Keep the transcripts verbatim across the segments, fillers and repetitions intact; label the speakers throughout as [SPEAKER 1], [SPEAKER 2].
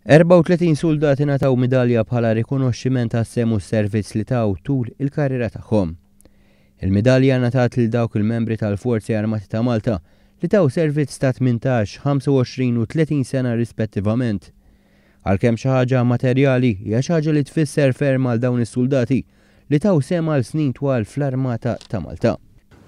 [SPEAKER 1] erbgħa u tletin suldat ingħataw midalja bħala rikonoxximent għas-sehem u s-servizz li taw tul il-karriera tagħhom. Il-midalja ngħatat lil dawk il-membri tal-Forzi Armati ta' Malta li taw servizz ta' tmintax, ħamsa u għoxrin u tletin sena rispettivament. Għalkemm xi ħaġa materjali, hija xi ħaġa li tfisser ferm għal dawn is-soldati li taw sehem għal snin twal fl-Armata ta' Malta.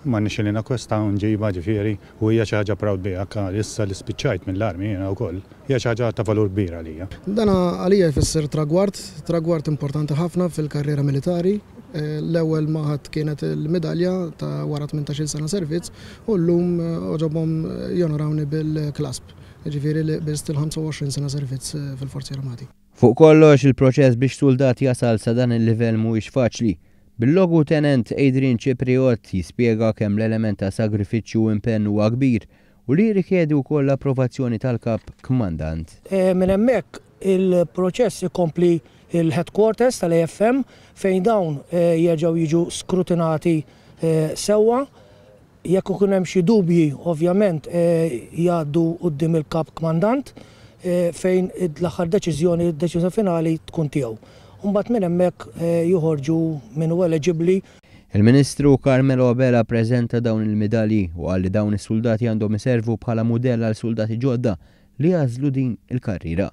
[SPEAKER 2] Ma nixxi li nakwesta nġiba, ġifieri, u hija xi ħaġa proud biha issa li spiċċajt mill-armi jiena wkoll. Hija xi ħaġa ta' valur kbir għalija.
[SPEAKER 3] Dana għalija jfisser tragward, tragward importanti ħafna fil-karriera militari. Eh, l-ewwel ma ħadt kienet il-medalja ta' wara tmintax-il sena servizz u llum eh, għoġobhom jonorawni bil-clasp. Ġifieri li qbiżt il-ħamsa u għoxrin sena servizz eh, fil-Forzi Armati.
[SPEAKER 1] Fuq kollox, il-proċess biex soldat jasal sa dan il-livell mhuwiex faċli. Bil-Logu Tenent Adrian Cipriot jispjega kemm l-element ta' sagrifiċċju u impenn huwa kbir u li jirrikjedi wkoll l-approvazzjoni tal-kap kmandant.
[SPEAKER 4] E, minn hemmhekk il-proċess ikompli il-headquarters tal-A F M fejn dawn e, jerġgħu jiġu skrutinati e, sewwa. Jekk ikun hemm xi dubji, ovvjament jgħaddu quddiem il-kap kmandant fejn l-aħħar deċiżjoni, deċiżjoni finali tkun tiegħu. Mbagħad minn hemmhekk eh, joħorġu min hu eligibbli.
[SPEAKER 1] Il-Ministru Carmelo Abela preżenta dawn il-medalji u qal li dawn is-soldati għandhom iservu bħala mudell għal soldati ġodda li jagħżlu din il-karriera.